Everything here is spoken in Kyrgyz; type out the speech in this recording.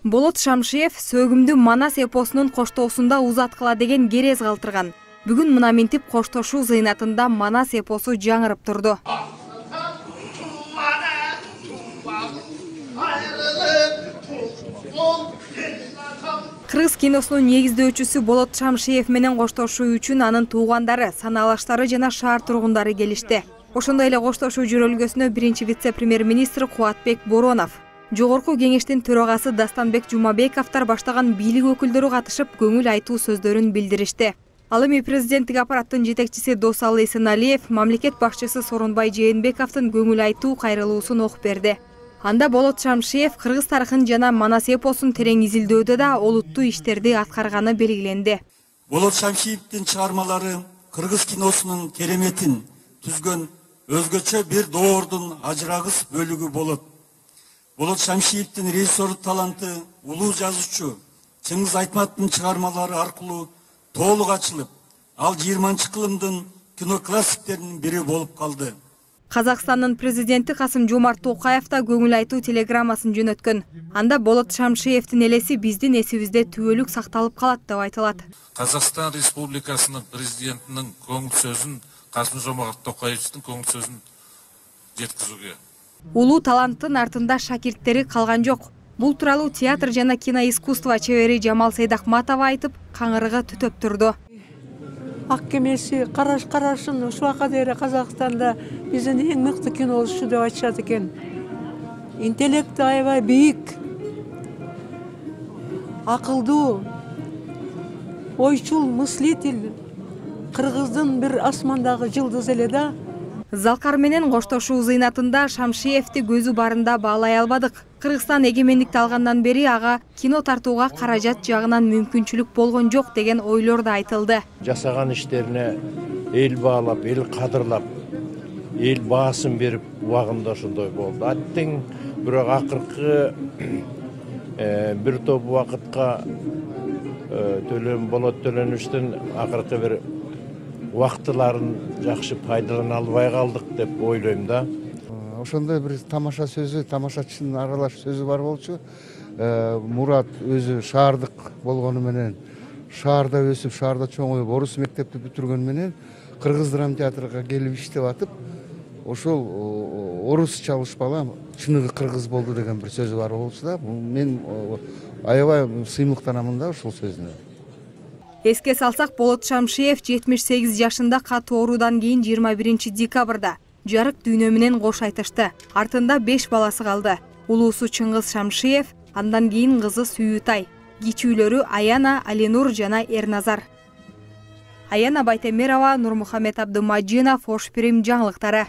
Болот Шамшиев сөгүмдү Манас эпосунун коштоосунда узаткыла деген керез калтырган. Бүгүн мына минтип коштошуу зыйнатында Манас эпосу жаңырып турду. Кыргыз киносунун негиздөөчүсү Болот Шамшиев менен коштошуу үчүн анын туугандары, санаалаштары жана шаар тургундары келишти. Ошондой эле коштошуу жөрөлгөсүнө биринчи вице-премьер-министр Кубатбек Боронов, Жогорку кеңештин төрагасы Дастанбек Жумабековдор баштаган бийлик өкүлдөрү катышып, көңүл айтуу сөздөрүн билдиришти. Ал эми президенттик аппараттын жетекчиси Досалы Эсеналиев мамлекет башчысы Сооронбай Жээнбековдун көңүл айтуу кайрылуусун окуп берди. Анда Болот Шамшиев кыргыз тарыхын жана Манас эпосун терең изилдөөдө да олуттуу иштерди аткарганы белгиленди. Болот Шамшиевдин чыгармалары кыргыз киносунун кереметин түзгөн өзгөчө бир доордун ажырагыс бөлүгү болот. Болот Шамшиевдин режиссерлук таланты улуу жазуучу Чыңгыз Айтматовдун чыгармалары аркылуу толук ачылып, ал 20-кылымдын кино классиктеринин бири болуп калды. Казакстандын президенти Касым-Жомарт Токаев да көңүл айтуу телеграммасын жөнөткөн. Анда Болот Шамшиевдин элеси биздин эсибизде түбөлүк сакталып калат деп айтылат. Казакстан Республикасынын президентинин көңүл сөзүн, Касым-Жомарт Токаевдин көңүл сөзүн жеткизүүгө. Улуу таланттын артында шакирттери калган жок. Бул тууралуу театр жана киноискусство чебери Жамал Сейдахматова айтып, каңырыгы түтөп турду. Ак кемеси карашын ушуга дейин Казакстанда биздин эң мыкты кинолушу деп айтышат экен. Интеллекти аябай бийик, акылдуу, ойчул, мыслитель, кыргыздын бир асмандагы жылдыз эле да. Залкар менен коштошуу зыйнатында Шамшиевди көзү барында баалай албадык. Кыргызстан эгемендикти алгандан бери ага кино тартууга каражат жагынан мүмкүнчүлүк болгон жок деген ойлор да айтылды. Жасаган иштерине эл баалап, эл кадырлап, эл баасын берип убагында ошондой болду. Аттең бирок акыркы бир топ убакытка Болот Төлөнүчтүн акыркы бир убактыларын жакшы пайдалана албай калдык деп ойлойм да. Ошондой бир тамаша сөзү, тамашачынын аралаш сөзү бар болчу. Мурат өзү шаардык болгону менен, шаарда өсүп, шаарда чоңоюп, орус мектепти бүтүргөн менен кыргыз драма театрга келип иштеп атып, ошол орусча алышпала чыныгы кыргыз болду деген бир сөзү бар болчу да. Мен аябай сыймыктанамын да ошол сөзүнө. Эске салсак, Болот Шамшиев 78 жашында катуу оорудан кийин 21 декабрда жарык дүйнө менен кош айтышты. Артында 5 баласы калды. Улуусу Чыңгыз Шамшиев, андан кийин кызы Сүйүтай, кичүүлөрү Аяна, Алинур жана Эрназар. Аяна Байтемирова, Нурмухамед Абдымажинов, Ош Пирим жаңылыктары.